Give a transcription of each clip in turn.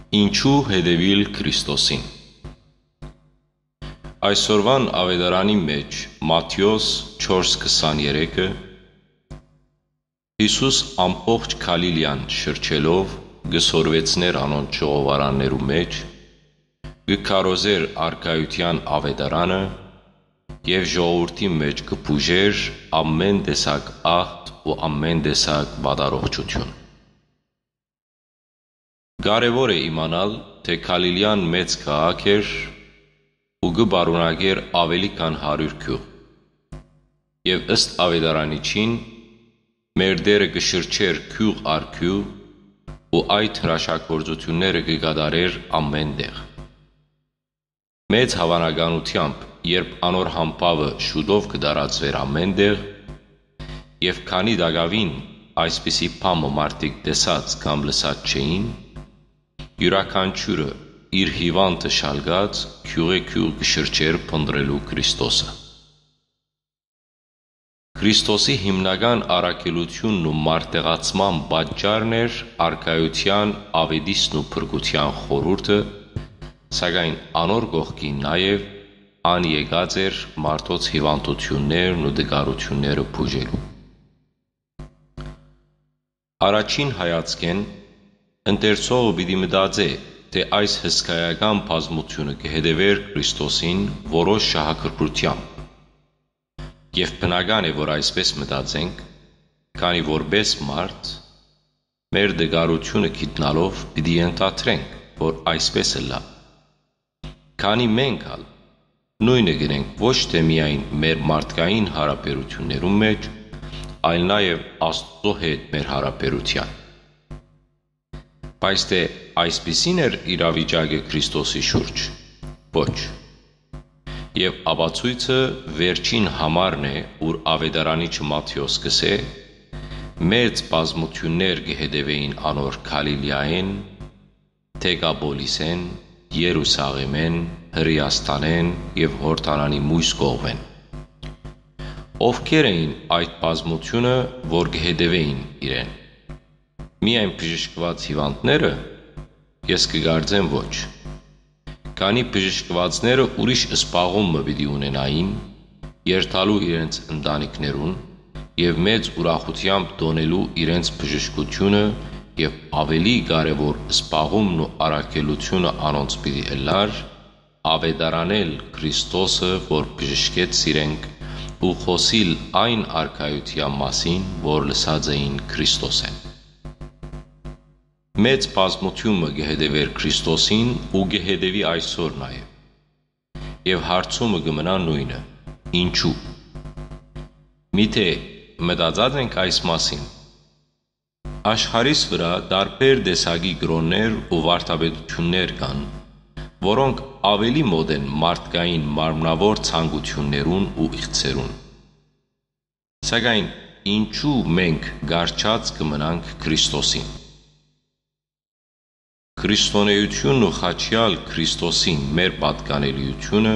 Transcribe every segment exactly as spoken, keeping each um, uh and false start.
Ինչու հետեւիլ Քրիստոսին։ Այսօրուան աւետարանի մէջ Մատթէոս չորս քսաներեքը, Յիսուս ամբողջ Գալիլիան շրջելով, կը սորվեցնէր անոնց ժողովարաններու մէջ, կը քարոզէր առկայութեան աւետարանը եւ ժողովուրդին մէջ կը բուժէր ամէն տեսակ ախտ ու ամէն տեսակ վատառողջութիւն։ Կարեւոր է իմանալ, թէ Գալիլիան մեծ քաղաք էր ու կը պարունակէր աւելի քան հարիւր գիւղ։ Եւ ըստ աւետարանիչին, մեր Տէրը կը շրջէր գիւղ առ գիւղ ու այդ հրաշագործութիւնները կը կատարէր ամէն տեղ։ Մեծ հաւանականութեամբ, երբ անոր համբաւը շուտով կը տարածուէր ամէն տեղ, եւ քանի տակաւին այսպիսի բան մը մարդիկ տեսած կամ լսած չէին, իւրաքանչիւրը իր հիւանդը շալկած գիւղէ գիւղ կը շրջէր փնտռելու Քրիստոսը։ Քրիստոսի հիմնական առաքելութիւնն ու մարտեղացման պատճառն էր առկայութեան, աւետիսն ու փրկութեան խորհուրդը, սակայն անոր կողքին նաեւ ան եկած էր մարդոց հիւանդութիւններն ու տկարութիւնները բուժելու։ Առաջին հայացքէն ընթերցողը պիտի մտածէ, թէ այս հսկայական բազմութիւնը կը հետեւէր Քրիստոսին որոշ շահագրգռութեամբ։ Եւ բնական է, որ այսպէս մտածենք, քանի որպէս մարդ, մեր տկարութիւնը գիտնալով պիտի ենթադրենք, որ այսպէս ըլլայ։ Քանի մենք ալ նոյնը կ'ընենք ոչ թէ միայն մեր մարդկային յարաբերութիւններուն մէջ, այլ նաեւ Աստուծոյ հետ մեր յարաբերութեան։ Բայց թէ այսպիսի՞ն էր իրավիճակը Քրիստոսի շուրջ։ Ոչ։ Եւ ապացոյցը վերջին համարն է, ուր աւետարանիչը Մատթէոս կ'ըսէ. «Մեծ բազմութիւններ կը հետեւէին անոր Գալիլիայէն, Դեկապոլիսէն, Երուսաղէմէն, Հրէաստանէն եւ Յորդանանի միւս կողմէն»։ Ովքե՞ր էին այդ բազմութիւնը, որ կը հետեւէին իրեն։ Միայն բժշկուած հիւանդները։ Ես կը կարծեմ, ոչ։ Քանի բժշկուածները ուրիշ սպաղում մը պիտի ունենային, երթալու իրենց ընտանիքներուն եւ մեծ ուրախութեամբ տօնելու իրենց բժշկութիւնը, եւ աւելի կարեւոր սպաղումն ու առաքելութիւնը անոնց պիտի ըլլար, աւետարանել Քրիստոսը, որ բժշկեց իրենք, ու խօսիլ այն առկայութեան մասին, որ լսած էին Քրիստոսէն։ Մեծ բազմութիւն մը կը հետեւէր Քրիստոսին ու կը հետեւի այսօր նաեւ։ Եւ հարցումը կը մնայ նոյնը. ինչու՞։ Միթէ մտածած ենք այս մասին։ Աշխարհիս վրայ տարբեր տեսակի կրօններ ու վարդապետութիւններ կան, որոնք աւելի մօտ են մարդկային մարմնաւոր ցանկութիւններուն ու իղձերուն։ Սակայն ինչու մենք կառչած կը մնանք Քրիստոսին։ Քրիստոնէութիւնն ու խաչեալ Քրիստոսին մեր պատկանելիութիւնը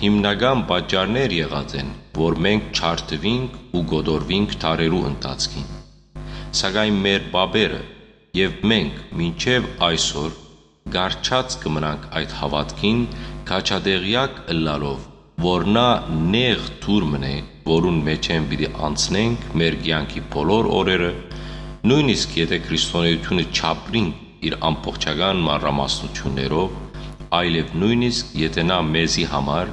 հիմնական պատճառներ եղած են, որ մենք չարթուինք ու կոտորուինք դարերու ընթացքին։ Սակայն մեր պապերը եւ մենք մինչեւ այսօր կառչած կը մնանք այդ հաւատքին, քաջատեղեակ ըլլալով, որ նա նեղ թուր մըն է, որուն մէջէն պիտի անցնենք մեր կեանքի բոլոր օրերը, նոյնիսկ եթէ քրիստոնէութիւնը չապրինք իր ամբողջական մանրամասնութիւններով, այլեւ նոյնիսկ եթէ նա մեզի համար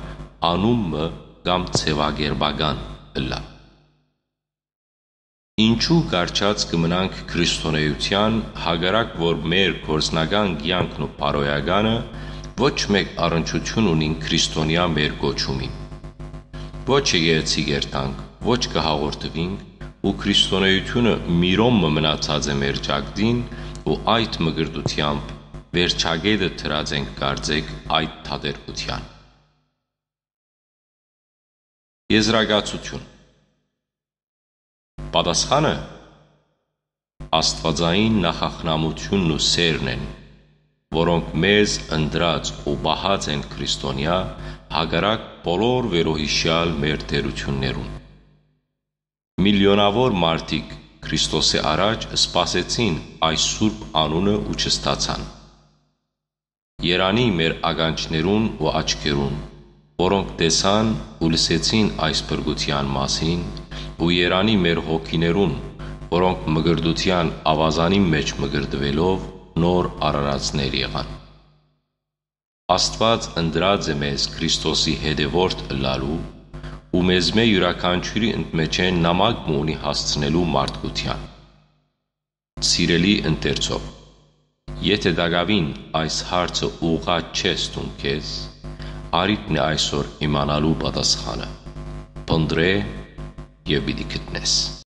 անուն մը կամ ձեւակերպական ըլլայ։ Ինչու կառչած կը մնանք քրիստոնէութեան, հակառակ որ մեր գործնական կեանքն ու բարոյականը ոչ մէկ առնչութիւն ունին քրիստոնեայ մեր կոչումին։ Ոչ եկեղեցի կ'երթանք, ոչ կը հաղորդուինք, ու քրիստոնէութիւնը միրոմ մը մնացած է մեր ճակտին, ու այդ մկրտութեամբ վերջակետը դրած ենք, կարծեք, այդ թատերգութեան։ Եզրակացութիւն։ Պատասխանը աստուածային նախախնամութիւնն ու սէրն են, որոնք մեզ ընտրած ու պահած են քրիստոնեայ, հակառակ բոլոր վերոյիշեալ մեր թերութիւններուն։ Միլիոնաւոր մարդիկ Քրիստոսի առաջ սպասեցին այս սուրբ անունը ու չստացան։ Երանի մեր ականջներուն ու աչքերուն, որոնք տեսան ու լսեցին այս փրկութեան մասին, ու երանի մեր հոգիներուն, որոնք մկրտութեան աւազանին մէջ մկրտուելով նոր արարածներ եղան։ Աստուած ընտրած է մեզ Քրիստոսի հետեւորդ ըլլալու ու մեզմէ իւրաքանչիւրի ընդ մէջէն նամակ մը ունի հասցնելու մարդկութեան։ Սիրելի ընթերցող, եթէ տակաւին այս հարցը ուղղած չես դուն քեզ, առիթն է այսօր իմանալու պատասխանը։ Փնտռէ եւ պիտի գտնես։